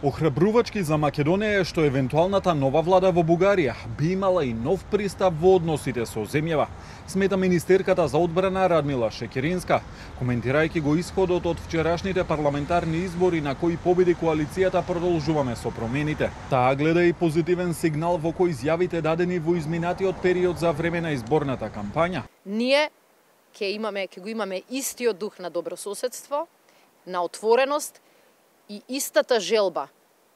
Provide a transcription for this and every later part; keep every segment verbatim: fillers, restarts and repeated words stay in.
Охрабрувачки за Македонија е што евентуалната нова влада во Бугарија би имала и нов пристап во односите со земјава, смета министерката за одбрана Радмила Шекеринска, коментирајќи го исходот од вчерашните парламентарни избори на кои победи коалицијата Продолжуваме со промените. Таа гледа и позитивен сигнал во кој изјавите дадени во изминатиот период за време на изборната кампања. Ние ќе имаме ќе го имаме истиот дух на добрососедство, на отвореност и истата желба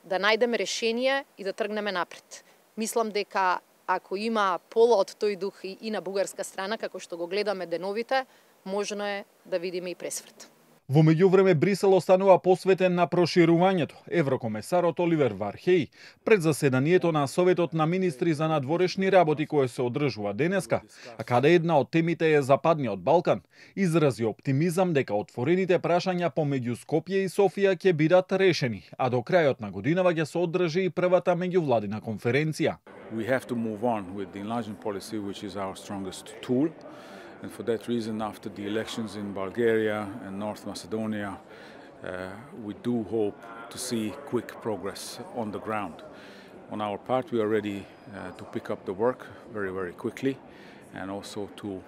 да најдеме решение и да тргнеме напред. Мислам дека ако има пола од тој дух и, и на бугарска страна, како што го гледаме деновите, можно е да видиме и пресврт. Во меѓувреме Брисел останува посветен на проширувањето. Еврокомесарот Оливер Вархеј пред заседанието на Советот на министри за надворешни работи кое се одржува денеска, а каде една од темите е Западниот Балкан, изрази оптимизам дека отворените прашања помеѓу Скопје и Софија ќе бидат решени, а до крајот на годинава ќе се одржи и првата меѓувладина конференција. We have to move on with the enlargement policy, which is our strongest tool. And for that reason, after the elections in Bulgaria and North Macedonia, uh, we do hope to see quick progress on the ground. On our part, we are ready uh, to pick up the work very, very quickly and also to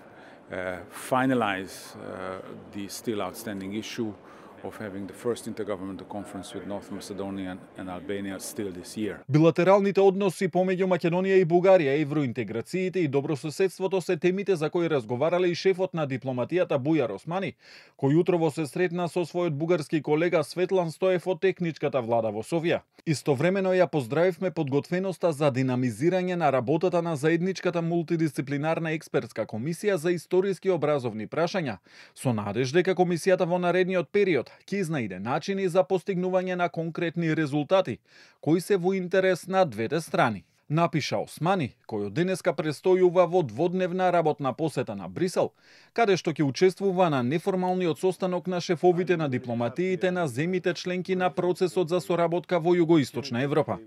uh, finalize uh, the still outstanding issue of having the first intergovernmental conference with North Macedonia and Albania still this year. Билатералните односи помеѓу Македонија и Бугарија, евроинтеграциите и добрососедството се темите за кои разговарале и шефот на дипломатијата Бујар Османи, кој утрово се сретна со својот бугарски колега Светлан Стоев од техничката влада во Софија. Истовремено ја поздравивме подготвеноста за динамизирање на работата на заедничката мултидисциплинарна експертска комисија за историски и образовни прашања, со надеж дека комисијата во наредниот период ќе изнајде начини за постигнување на конкретни резултати, кои се во интерес на двете страни. Напиша Османи, кој од денеска престојува во дводневна работна посета на Брисел, каде што ќе учествува на неформалниот состанок на шефовите на дипломатиите на земјите членки на процесот за соработка во Југоисточна Европа.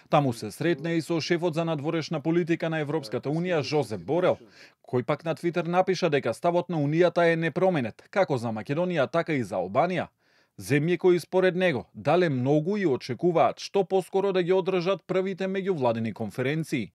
Таму се сретна и со шефот за надворешна политика на Европската Унија Жозеп Борел, кој пак на Твитер напиша дека ставот на Унијата е непроменет, како за Македонија, така и за Албанија. Земји кои според него дале многу и очекуваат што поскоро да ги одржат првите меѓувладини конференции.